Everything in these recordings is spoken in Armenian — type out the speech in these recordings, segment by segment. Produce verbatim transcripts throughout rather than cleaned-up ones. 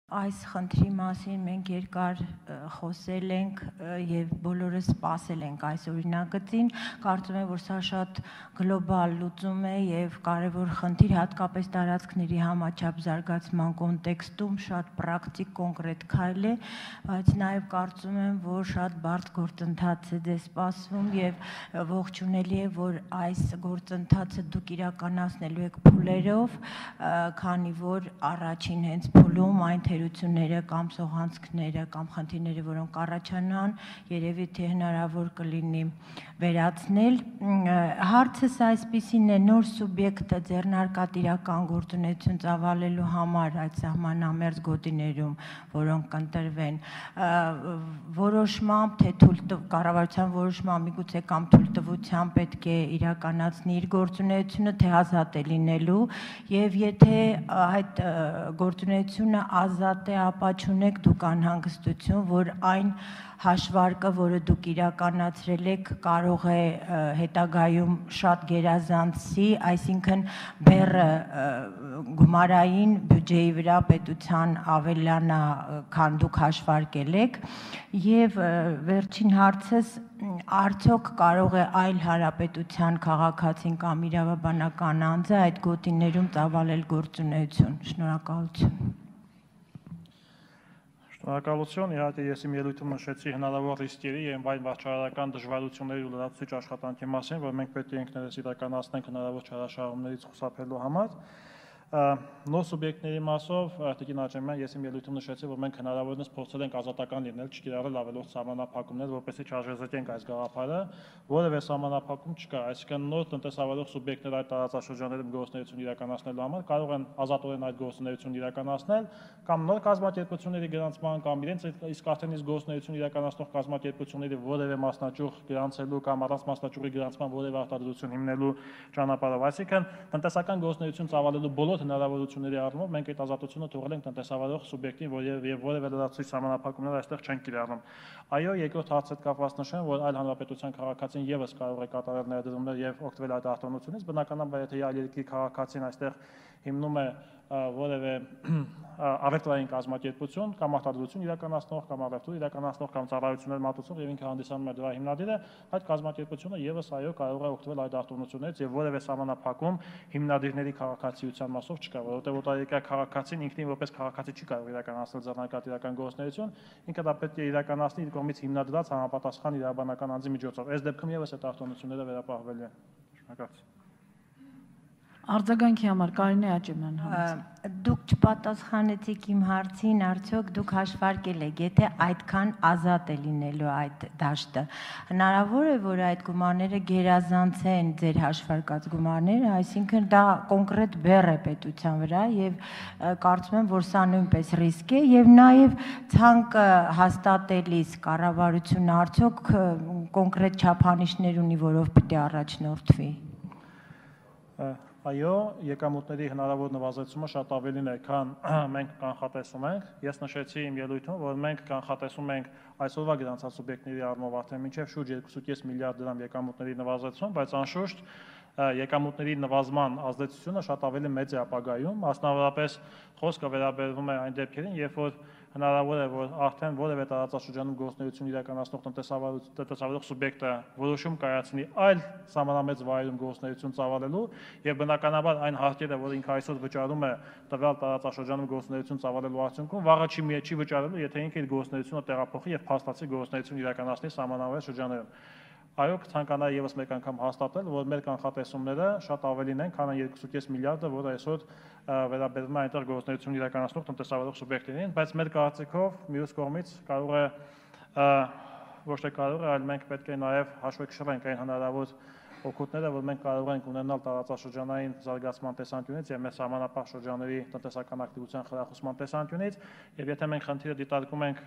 Այս խնդրի մասին մենք երկար խոսել ենք եւ բոլորը սպասել ենք այս օրինագծին, կարծում եմ, որ սա շատ գլոբալ լուծում է եւ կարեւոր խնդիր, հատկապես տարածքների համաչափ զարգացման կոնտեքստում շատ պրակտիկ կոնկրետ քայլ է, բայց նաեւ կարծում եմ, որ շատ բարդ գործընթաց է դե սպասվում եւ ողջունելի է, որ այս գործընթացը դուք իրականացնելու եք փուլերով, քանի որ առաջին հենց փուլում այն թերությունները կամ սողանցքները կամ խնդիրները, որոնք առաջանան, երևի թե հնարավոր կլինի վերացնել։ Հարցս այսպիսին է, նոր սուբյեկտը ձեռնարկատիրական գործունեություն ծավալելու համար այդ սահմանամերձ գոտիներում, որոնք կընտրվեն, որոշմամբ, թե կառավարության որոշմամբ միգուցե կամ թույլտվությամբ պետք է իրականացնի իր գործունեությունը, թե ազատ է լինելու, եւ եթե այդ գործունեությունը ազատ է, ապա չունեք դուք անհանգստություն, որ այն հաշվարկը, որը դուք իրականացրել եք, կարող է հետագայում շատ գերազանցի, այսինքն բեռը գումարային բյուջեի վրա պետության ավելանա, քան դուք հաշվարկել եք, եւ վերջին հարցս, արդյոք կարող է այլ հանրապետության քաղաքացին կամ իրավաբանական անձը այդ գոտիներում ծավալել գործունեություն։ Շնորհակալություն։ Շնորհակալություն, իհարկե ես իմ ելույթում նշեցի հնարավոր ռիսկերի եւ այն վարչարարական դժվարությունների ու լրացուցիչ աշխատանքի մասին, որ մենք պետք է ինքներս իրականացնենք հնարավոր չարաշահումներից խուսափելու համար։ Նոր սուբյեկտների մասով, Տիկին Աճեմյան, ես իմ ելույթում նշեցի, որ մենք հնարավորինս փորձել ենք ազատական լինել, չկիրառել ավելորդ սահմանափակումներ, որպեսզի չարժեզրկենք այս գաղափարը, որևէ սահմանափակում չկա, այսինքն նոր տնտեսավարող սուբյեկտներ այդ տարածաշրջաններում գործունեություն իրականացնելու համար կարող են ազատորեն այդ գործունեությունն իրականացնել, կամ նոր կազմակերպությունների գրանցման, կամ իրենց իսկ արդեն իսկ գործունեություն իրականացնող կազմակերպությունների որևէ մասնաճյուղ գրանցելու կամ առանց մասնաճյուղի գրանցման որևէ արտադրություն հիմնելու ճանապարհով, այսինքն տնտեսական գործունեություն ծավալելու բոլոր հնարավորությունների առումով մենք այդ ազատությունը թողել ենք տնտեսավարող սուբյեկտին, եւ որևէ լրացուցիչ սահմանափակումներ այստեղ չեն կիրառում։ Այո, երկրորդ հարցը կապված նշեմ, որ այլ հանրապետության քաղաքացին եւս կարող է կատարել ներդրումներ եւ օգտվել այդ արտոնությունից, բնականաբար եթե այլ երկրի քաղաքացին այստեղ հիմնում է որևէ առևտրային կազմակերպություն կամ արտադրություն իրականացնող կամ առևտուր իրականացնող կամ ծառայություններ մատուցող եւ ինքը հանդիսանում է դրա հիմնադիրը, այդ կազմակերպությունը եւս այո կարող է օգտվել այդ արտոնություններից եւ որևէ սահմանափակում հիմնադիրների քաղաքացիության մասով չկա, որովհետեւ օտարերկրյա քաղաքացին ինքնին որպես քաղաքացի չի կարող իրականացնել ձեռնարկատիրական գործունեություն, ինքը դա պետք է իրականացնի իր կողմից հիմնադրած համապատասխան իրավաբանական անձի միջոցով։ Այս դեպքում եւս այդ արտոնությունները վերապահվելու են։ Շնորհակալություն։ Արձագանքի համար Կարինե Աճեմյան։ Դուք չպատասխանեցիք իմ հարցին, արդյոք դուք հաշվարկել եք, եթե այդքան ազատ է լինելու այդ դաշտը, հնարավոր է, որ այդ գումարները գերազանցեն ձեր հաշվարկած գումարները, այսինքն դա կոնկրետ բեռ է պետության վրա եւ կարծում եմ, որ սա նույնպես ռիսկ է եւ նաեւ ցանկը հաստատելիս կառավարությունը արդյոք կոնկրետ չափանիշներ ունի, որով պիտի առաջնորդվի։ Այո, եկամուտների հնարավոր նվազեցումը շատ ավելին է, քան մենք կանխատեսում ենք։ Ես նշեցի իմ ելույթում, որ մենք կանխատեսում ենք այսօրվա գրանցած սուբյեկտների առումով արդեն մինչև շուրջ երկու կես միլիարդ դրամ եկամուտների նվազեցում, բայց անշուշտ եկամուտների նվազման ազդեցությունը շատ ավելի մեծ է ապագայում, մասնավորապես խոսքը վերաբերվում է այն դեպքերին, երբ որ հնարավոր է, որ արդեն որևէ տարածաշրջանում գործունեություն իրականացնող տնտեսավարող սուբյեկտը որոշում կայացնի այլ սահմանամերձ վայրում գործունեություն ծավալելու եւ բնականաբար այն հարկերը, որ ինքը այսօր վճարում է տվյալ տարածաշրջանում գործունեություն ծավալելու արդյունքում, վաղը չի չի վճարելու, եթե ինքը իր գործունեությունը տեղափոխի եւ փաստացի գործունեություն իրականացնի սահմանամերձ շրջաններում։ Այո, կցանկանայի եւս մեկ անգամ հաստատել, որ մեր կանխատեսումները շատ ավելին են, քան երկու կես միլիարդը, որը այսօր վերաբերվում է այնտեղ գործունեություն իրականացնող տնտեսավարող սուբյեկտներին, բայց մեր կարծիքով մյուս կողմից կարող է ոչ թե կարող է, այլ մենք պետք է նաեւ հաշվեկշռենք այն հնարավոր օգուտները, որ մենք կարող ենք ունենալ տարածաշրջանային զարգացման տեսանկյունից եւ մեր սահմանապահ շրջանների տնտեսական ակտիվության խրախուսման տեսանկյունից, եւ եթե մենք խնդիրը դիտարկում ենք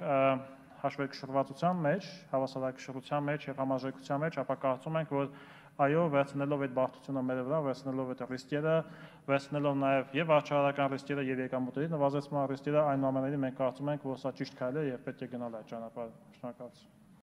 հաշվեկշռվածության մեջ, հավասարակշռության մեջ եւ համաժողովության մեջ, ապա կարծում ենք, որ այո, վերցնելով այդ բարդությունը մեր վրա, վերցնելով այդ ռիսկերը, վերցնելով նաեւ եւ վարչարարական ռիսկերը եւ եկամուտների նվազեցման ռիսկերը, այնուամենայնիվ մենք կարծում ենք, որ սա ճիշտ քայլ է եւ պետք է գնալ այդ ճանապարհով։ Շնորհակալություն։